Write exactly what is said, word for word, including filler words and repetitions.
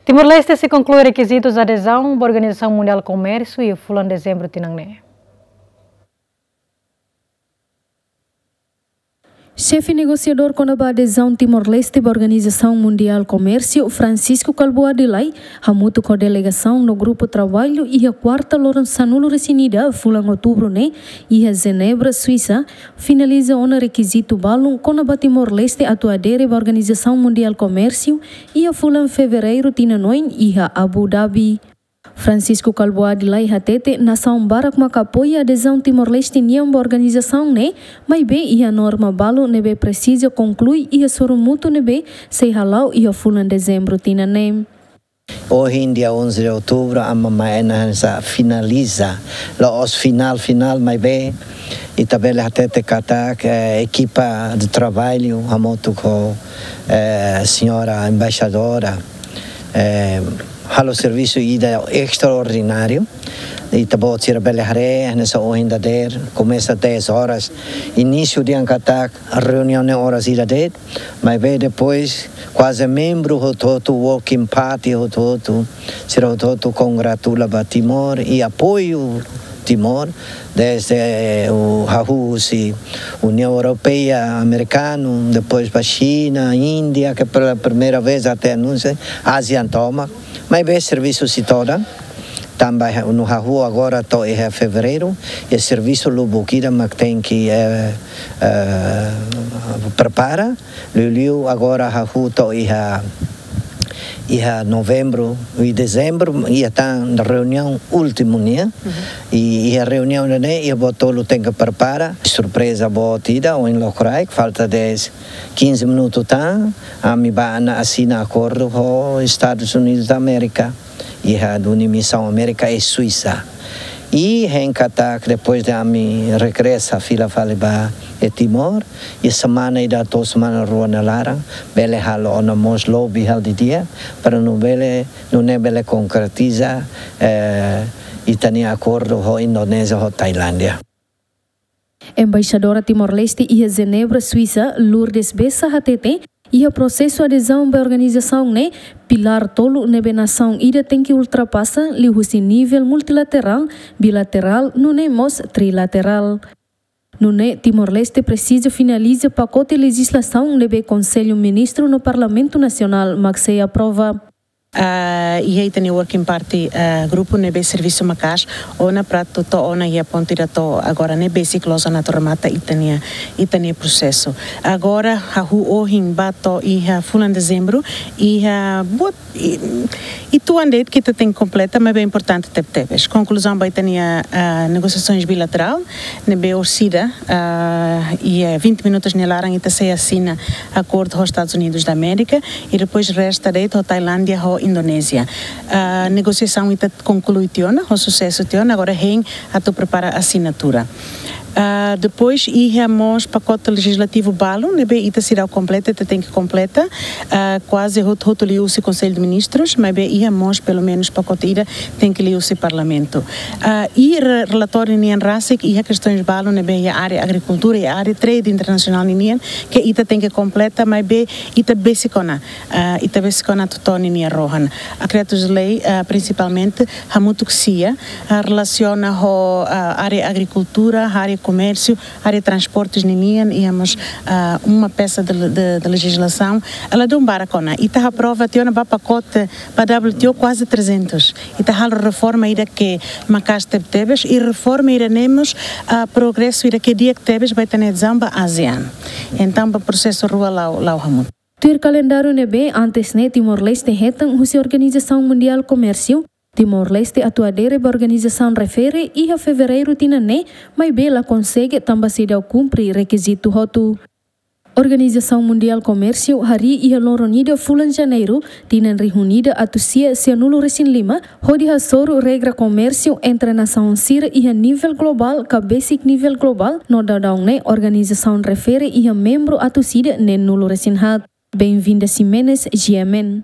Timor-Leste sei konklui rekizitus adezaun ba Organizasaun Mundiál Komérsiu iha fulan dezembru tinan ne'e. Xefe negosiadór kona-ba adezaun Timor-Leste ba Organizasaun Mundiál Komérsiu, Francisco Kalbuadi Lay, hamutuk ho delegasaun no grupu traballu iha kuarta loron sanulu-resin-ida fulan outubru ne'e iha Jenebra, Suisa, finaliza ona rekizitu balun kona-ba Timor-Leste atu adere ba Organizasaun Mundiál Komérsiu iha fulan fevereiru tinan oin iha Abu Dhabi. Francisco Kalbuadi Lay hatete nasaun barak maka apoia adezaun Timor-Leste nian ba organizasaun ne'e, maibé iha norma balu ne'ebé presiza konklui iha sorumutu ne'ebé sei hala'o iha fulan dezembru tinan ne'e. Ohin, dia onze de outubro, ami mai hanesan finaliza, la'ós final, final, maibé ita bele hatete katak, eh, ekipa de traballu, hamutuk ho, eh, señora embaixadora, eh, halo servisu ida estraordináriu. Ita-boot sira bele haree, hanesan ohin dadeer, komesa dez horas, inísiu dehan katak reuniaun ne'e oras ida de'it, maibé depois kuaze membru hotu-hotu, working party hotu-hotu, sira hotu-hotu kongratula ba Timor i apoiu Timor, desde o hahú husi Uniaun Europeia, Amerikanu, depois ba Xina, Índia, ke pela primeira vez até anúnsiu, ASEAN tomak, maibé servisu sei todan, tanba no hahú agora to'o iha fevereiru, i servisu lubuk ida mak tenke, eh, eh, prepara, liuliu agora hahú to'o iha, iha novembru i dezembru, iha tan reuniaun últimu nian, i iha reuniaun ne'e, iha boot tolu tenke prepara, surpreza boot ida, ohin lokraik, falta dez, quinze minutu tan, ami bá ona asina akordu ho Estadus Unidus da Amérika, iha duni misaun Amérika iha Suisa. I hein katak depois de ami regresa fila fali ba iha Timor, iha semana ida to'o semana rua nia laran, bele halo ona mós lobby hal didi'ak, para nune'e bele, nune'e bele konkretiza, eh, ita-nia akordu ho Indonézia ho Tailándia. Embaixadora Timor-Leste iha Jenebra, Suisa, Lourdes Bessa hatete, iha prosesu adezaun ba organizasaun ne'e, pilár tolu ne'ebé nasaun ida tenke ultrapasa, liuhusi nivel multilaterál, bilaterál, nune'e mós trilaterál. Nune'e Timor-Leste presiza finaliza pakote lejizlasaun ne'ebé Konsellu Ministru no Parlamentu Nasionál mak sei aprova. Ah, iha ita-nia working party, ah, grupu ne'ebé servisu maka'as ona para atu to'o ona iha pontu ida to'o agora ne'e besik loos ona atu remata ita-nia, ita-nia prosesu. Agora, hahú ohin bá to'o iha fulan dezembru, iha boot, i, i tuan de'it ke ita tenke kompleta, maibé importante tebetebes. Konkluzaun ba ita-nia, ah, negosiasoens bilaterál, ne'ebé orsida, ah, iha vinte minutus nia laran ita sei asina akordu ho Estadus Unidus da Amérika, i depois resta de'it ho Tailándia ho Indonézia. Ah, negosiasaun ita konklui tiha ona, ho susesu tiha ona, agora hein atu prepara asinatura. Ah, depois iha mós pakote lejizlativu balu, ne'ebé ita seidauk kompleta, ita tenke kompleta, ah, kuaze hotu-hotu liuhusi Konsellu de Ministrus, maibé iha mós pelumenus pakote ida tenke liuhusi Parlamentu. Ah, i re-, relatóriu nian rasik iha kestoens balu ne'ebé iha área agrikultura, iha área trade internasionál ninian, ke ita tenke kompleta, maibé ita besik ona, ah, ita besik ona atu to'o ninia rohan. Dekretus-lei, ah, prinsipalmente, hamutuk sira, ah, relasiona ho, ah, área agrikultura, área komérsiu, área transportes ninian, iha mós, ah, uma peça de, de, de lejizlasaun. Ladún barak ona. Ita aprova tiha ona ba pakote, ba W T O kuaze trezentus. Ita halo reforma ida ke maka'as tebetebes, i reforma ida ne'e mós, ah, progresu ida ke di'ak tebes ba ita-nia adezaun ba ASEAN. Entaun, ba prosesu rua la'o, la'o hamutuk. Tuir kalendáriu ne'ebé antes ne'e Timor-Leste hetan husi Organizasaun Mundiál Komérsiu, Timor-Leste atu adere ba organizasaun refere iha fevereiru tinan ne'e, maibé la konsege tanba seidauk kumpre rekizitu hotu. Organizasaun Mundiál Komérsiu harii iha loron ida fulan Janeiru, tinan rihun ida atus sia sianulu-resin-lima, hodi hasoru regra komérsiu entre nasaun sira iha nivel globál ka besik nivel globál, no daudaun ne'e organizasaun refere iha membru atus ida neenulu-resin-haat. Benvinda Ximenes, G M N.